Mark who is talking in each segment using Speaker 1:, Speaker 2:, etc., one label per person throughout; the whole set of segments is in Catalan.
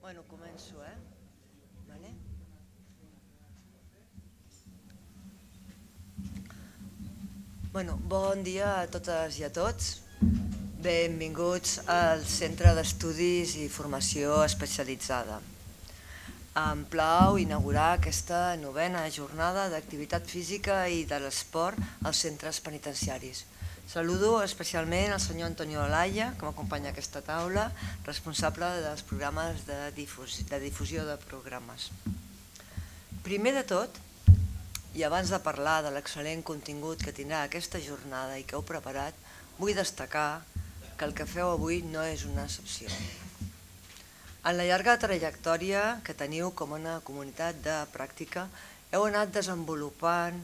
Speaker 1: Bueno, començo, Vale? Bon dia a totes i a tots. Benvinguts al Centre d'Estudis i Formació Especialitzada. Em plau inaugurar aquesta novena jornada d'activitat física i de l'esport als centres penitenciaris. Saludo especialment el senyor Antonio Olaya, que m'acompanya a aquesta taula, responsable dels programes de difusió de programes. Primer de tot, i abans de parlar de l'excel·lent contingut que tindrà aquesta jornada i que heu preparat, vull destacar que el que feu avui no és una excepció. En la llarga trajectòria que teniu com una comunitat de pràctica, heu anat desenvolupant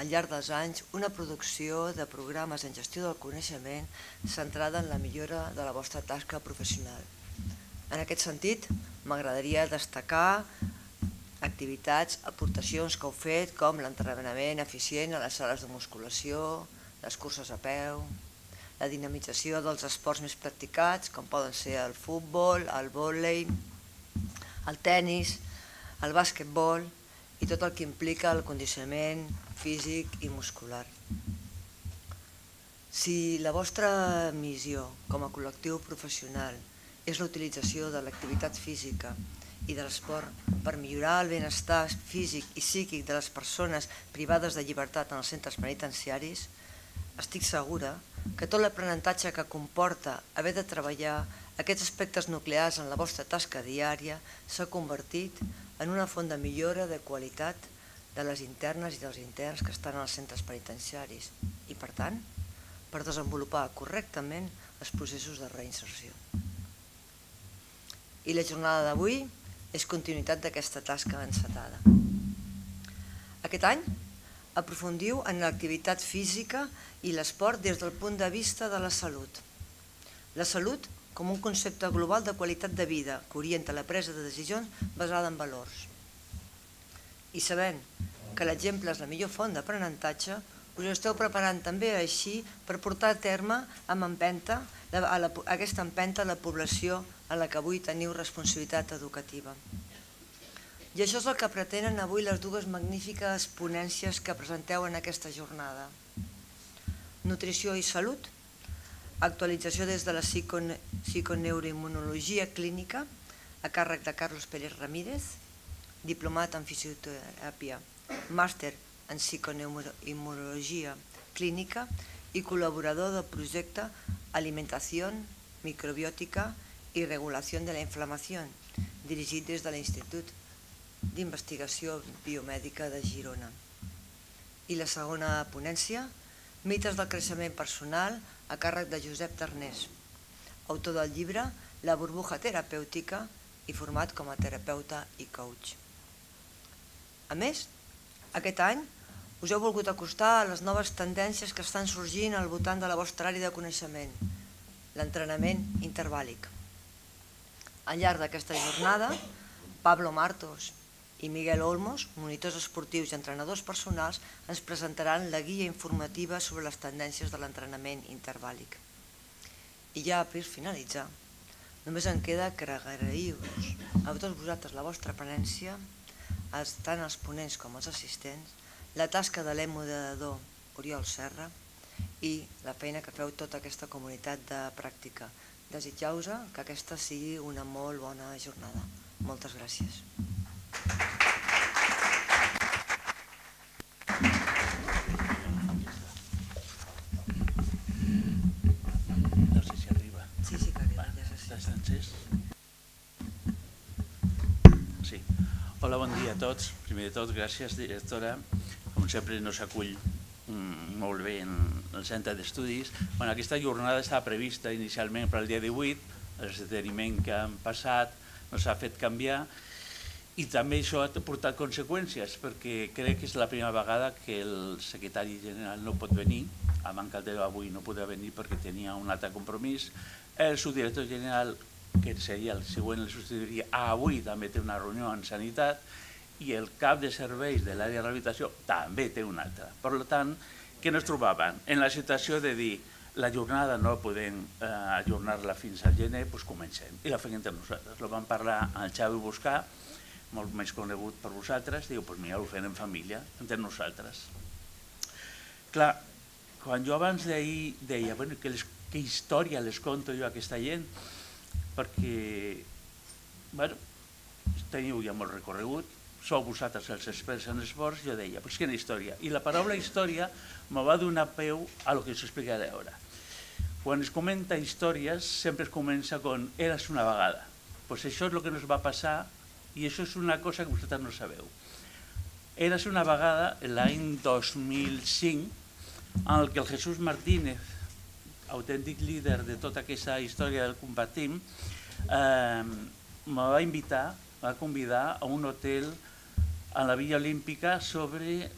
Speaker 1: al llarg dels anys una producció de programes en gestió del coneixement centrada en la millora de la vostra tasca professional. En aquest sentit, m'agradaria destacar activitats, aportacions que heu fet, com l'entrenament eficient a les sales de musculació, les curses a peu, la dinamització dels esports més practicats, com poden ser el futbol, el vòlei, el tennis, el bàsquetbol i tot el que implica el condicionament físic i muscular. Si la vostra missió com a col·lectiu professional és la utilització de l'activitat física i de l'esport per millorar el benestar físic i psíquic de les persones privades de llibertat en els centres penitenciaris, estic segura que tot l'aprenentatge que comporta haver de treballar aquests aspectes nuclears en la vostra tasca diària s'ha convertit en una font de millora de qualitat de les internes i dels interns que estan als centres penitenciaris i, per tant, per desenvolupar correctament els processos de reinserció. I la jornada d'avui és continuïtat d'aquesta tasca encetada. Aquest any aprofundiu en l'activitat física i l'esport des del punt de vista de la salut. La salut com un concepte global de qualitat de vida que orienta la presa de decisions basada en valors. I sabent que l'exemple és la millor font d'aprenentatge, us esteu preparant també així per portar a terme aquesta empenta a la població a la que avui teniu responsabilitat educativa. I això és el que pretenen avui les dues magnífiques ponències que presenteu en aquesta jornada. Nutrició i salut, actualització des de la psiconeuroimmunologia clínica a càrrec de Carlos Pérez Ramírez, diplomat en fisioteràpia, màster en psiconeuroimmunologia clínica i col·laborador del projecte Alimentación Microbiótica i Regulació de la Inflamació, dirigit des de l'Institut d'Investigació Biomèdica de Girona. I la segona ponència, mites del creixement personal a càrrec de Josep Tarnés, autor del llibre La burbuja terapèutica i format com a terapeuta i coach. A més, aquest any us heu volgut acostar a les noves tendències que estan sorgint al voltant de la vostra àrea de coneixement, l'entrenament intervàlic. Al llarg d'aquesta jornada, Pablo Martos i Miguel Olmos, monitors esportius i entrenadors personals, ens presentaran la guia informativa sobre les tendències de l'entrenament intervàlic. I ja per finalitzar, només em queda que agrair-vos a tots vosaltres la vostra presència, tant els ponents com els assistents, la tasca de l'emoderador Oriol Serra i la feina que feu tota aquesta comunitat de pràctica. Desitjau-vos que aquesta sigui una molt bona jornada. Moltes gràcies.
Speaker 2: No sé si arriba.
Speaker 1: Sí que arriba, ja sé.
Speaker 2: Estàs encès? Sí. Hola, bon dia a tots. Primer de tot, gràcies, directora. Com sempre, nos acull molt bé en el centre d'estudis. Aquesta jornada estava prevista inicialment per al dia 18, l'esdeveniment que han passat ens ha fet canviar i també això ha portat conseqüències perquè crec que és la primera vegada que el secretari general no pot venir, a manca d'avui no podrà venir perquè tenia un altre compromís, el subdirector general, que seria el següent, el substituiria, avui també té una reunió en sanitat i el cap de serveis de l'àrea de rehabilitació també té una altra. Per tant, què ens trobàvem? En la situació de dir La jornada no podem ajornar-la fins al gener, doncs comencem. I la fem entre nosaltres. Lo vam parlar al Xavi Buscà, molt més conegut per vosaltres, diu, doncs mira, ho fem en família, entre nosaltres. Clar, quan jo abans d'ahir deia, bueno, què història les conto jo a aquesta gent, perquè, bueno, teniu ja molt recorregut, sou vosaltres els experts en esports, jo deia, doncs quina història. I la paraula història me va donar peu a lo que us explicaré ara. Quan es comenta històries, sempre es comença con «eres una vegada». Doncs això és el que ens va passar i això és una cosa que vosaltres no sabeu. Eres una vegada, l'any 2005, en el que el Jesús Martínez, autèntic líder de tota aquesta història del Compartim, me va invitar, va convidar a un hotel a la Villa Olímpica sobre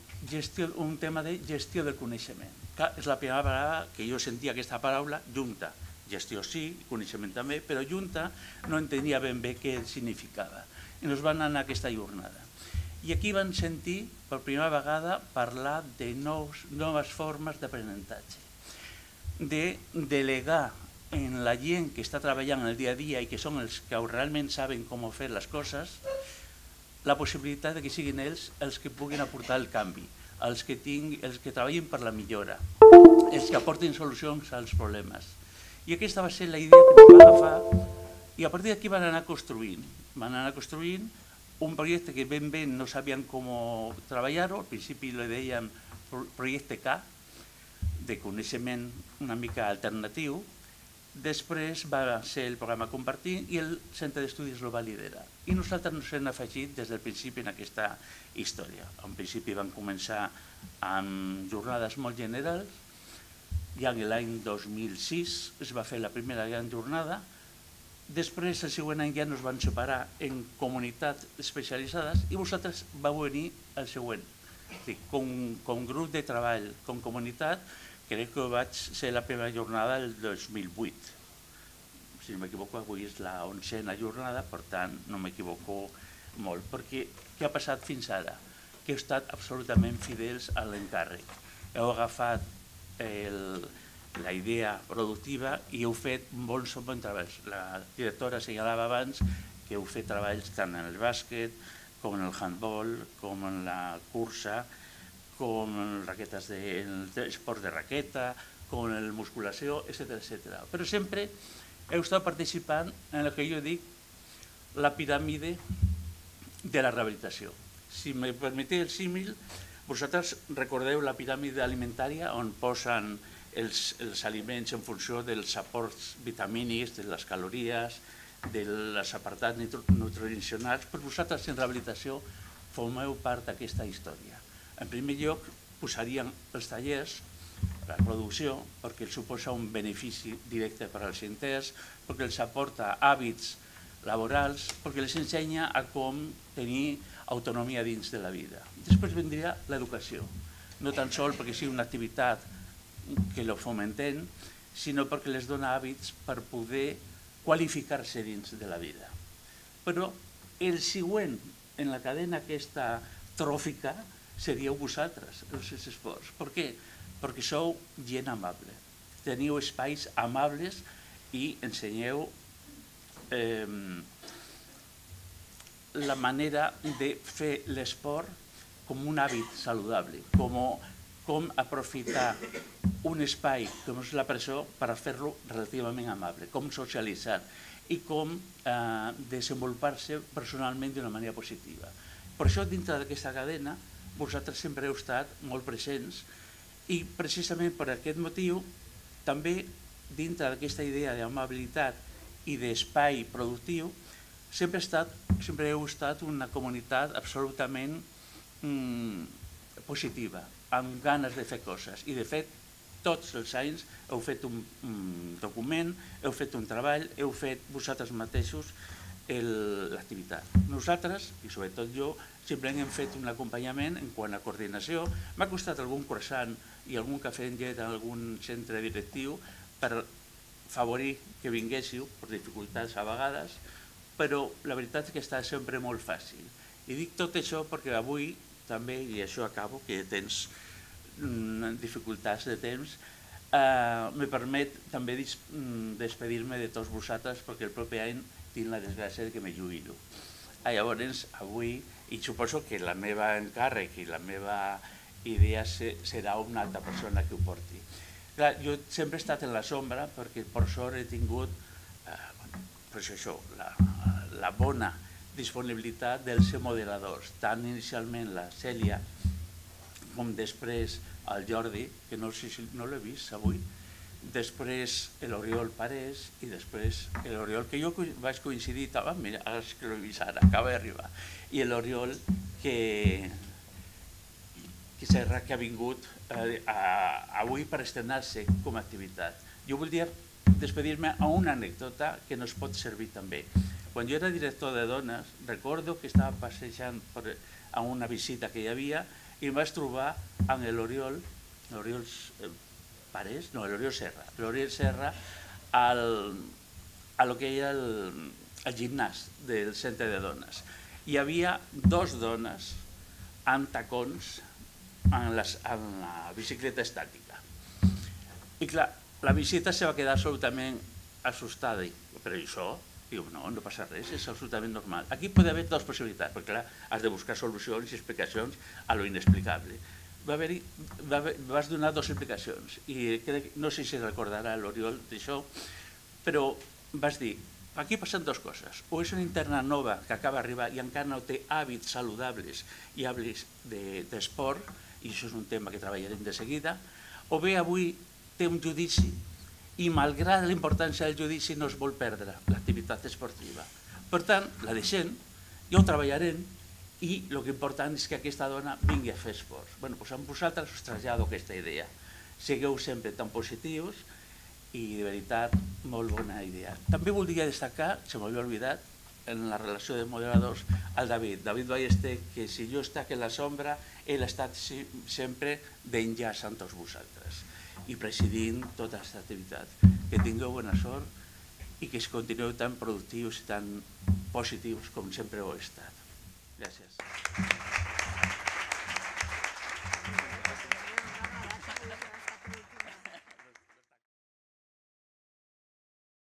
Speaker 2: un tema de gestió del coneixement. És la primera vegada que jo sentia aquesta paraula junta. Gestió sí, coneixement també, però junta no entenia ben bé què significava. I ens van anar a aquesta jornada. I aquí van sentir per primera vegada parlar de noves formes d'aprenentatge, de delegar en la gent que està treballant el dia a dia i que són els que realment saben com fer les coses, la possibilitat que siguin ells els que puguin aportar el canvi, els que treballin per la millora, els que aportin solucions als problemes. I aquesta va ser la idea que ens va agafar i a partir d'aquí van anar construint un projecte que ben bé no sabien com treballar-ho. Al principi li dèiem projecte K, de coneixement una mica alternatiu. Després va ser el programa Compartir i el centre d'estudis el va liderar. I nosaltres ens hem afegit des del principi en aquesta història. En principi vam començar amb jornades molt generals, ja l'any 2006 es va fer la primera gran jornada. Després, el següent any ja ens van separar en comunitats especialitzades i vosaltres vau venir el següent. Com grup de treball, com comunitat, crec que vaig ser la primera jornada del 2008. Si no m'equivoco, avui és la 11a jornada, per tant, no m'equivoco molt. Perquè què ha passat fins ara? Que heu estat absolutament fidels a l'encàrrec. Heu agafat la idea productiva i heu fet bons treballs. La directora assenyalava abans que heu fet treballs tant en el bàsquet, com en el handball, com en la cursa, com en esports de raqueta, com en la musculació, etc. Però sempre heu estat participant en el que jo dic la piràmide de la rehabilitació. Si me permeteu el símil, vosaltres recordeu la piràmide alimentària on posen els aliments en funció dels aports vitamínics, de les calories, dels apartats nutricionals, però vosaltres en rehabilitació formeu part d'aquesta història. En primer lloc, posaríem els tallers, la producció, perquè els suposa un benefici directe per als interns, perquè els aporta hàbits laborals, perquè els ensenya a com tenir autonomia dins de la vida. Després vendria l'educació, no tan sols perquè sigui una activitat que lo fomenten, sinó perquè les dona hàbits per poder qualificar-se dins de la vida. Però el següent en la cadena aquesta tròfica seríeu vosaltres, els esports. Per què? Perquè sou gent amable, teniu espais amables i ensenyeu la manera de fer l'esport com un hàbit saludable, com aprofitar un espai com és la presó per fer-lo relativament amable, com socialitzar i com desenvolupar-se personalment d'una manera positiva. Per això, dintre d'aquesta cadena, vosaltres sempre heu estat molt presents i precisament per aquest motiu també dintre d'aquesta idea d'amabilitat i d'espai productiu sempre heu estat una comunitat absolutament positiva, amb ganes de fer coses. I de fet, tots els anys heu fet un document, heu fet un treball, heu fet vosaltres mateixos l'activitat. Nosaltres, i sobretot jo, simplement hem fet un acompanyament en quant a coordinació. M'ha costat algun croissant i algun cafè en llet en algun centre directiu per favorir que vinguéssiu, per dificultats a vegades, però la veritat és que està sempre molt fàcil. I dic tot això perquè avui també, i això acabo, que tens dificultats de temps, me permet també despedir-me de tots vosaltres perquè el proper any tinc la desgràcia que me jubilo. Llavors, avui, i suposo que la meva encàrrec i la meva idea serà una altra persona que ho porti. Clar, jo sempre he estat en la sombra perquè per sort he tingut la bona disponibilitat dels moderadors, tant inicialment la Cèlia com després el Jordi, que no l'he vist avui, després l'Oriol Parés i després l'Oriol, que jo vaig coincidir, mira, ara és que l'he vist ara, acaba d'arribar, i l'Oriol que Serra, que ha vingut avui per estrenar-se com a activitat. Jo voldria despedir-me a una anècdota que nos pot servir també. Quan jo era director de dones, recordo que estava passejant a una visita que hi havia i em vaig trobar amb l'Oriol Parés, no, l'Oriol Serra, a lo que era el gimnàs del centre de dones. Hi havia dues dones amb tacons en la bicicleta estàtica. I clar, la visita se va quedar absolutament assustada. Però això, diu, no passa res, és absolutament normal. Aquí pot haver dues possibilitats, perquè clar, has de buscar solucions i explicacions a lo inexplicable. Vas donar dues explicacions i no sé si recordarà l'Oriol d'això, però vas dir, aquí passen dues coses. O és una interna nova que acaba d'arribar i encara no té hàbits saludables i hàbits d'esport, i això és un tema que treballarem de seguida, o bé avui té un judici i malgrat la importància del judici no es vol perdre l'activitat esportiva. Per tant, la deixem, ja ho treballarem i el que important és que aquesta dona vingui a fer esports. Bé, doncs amb vosaltres us trasllado aquesta idea. Sigueu sempre tan positius i de veritat molt bona idea. També voldria destacar, se m'havia oblidat, en la relació de moderadors, el David Ballester, que si jo estic en la sombra, ell ha estat sempre d'enllaç amb tots vosaltres i presidint tota aquesta activitat. Que tingueu bona sort i que es continueu tan productius i tan positius com sempre ho he estat. Gràcies.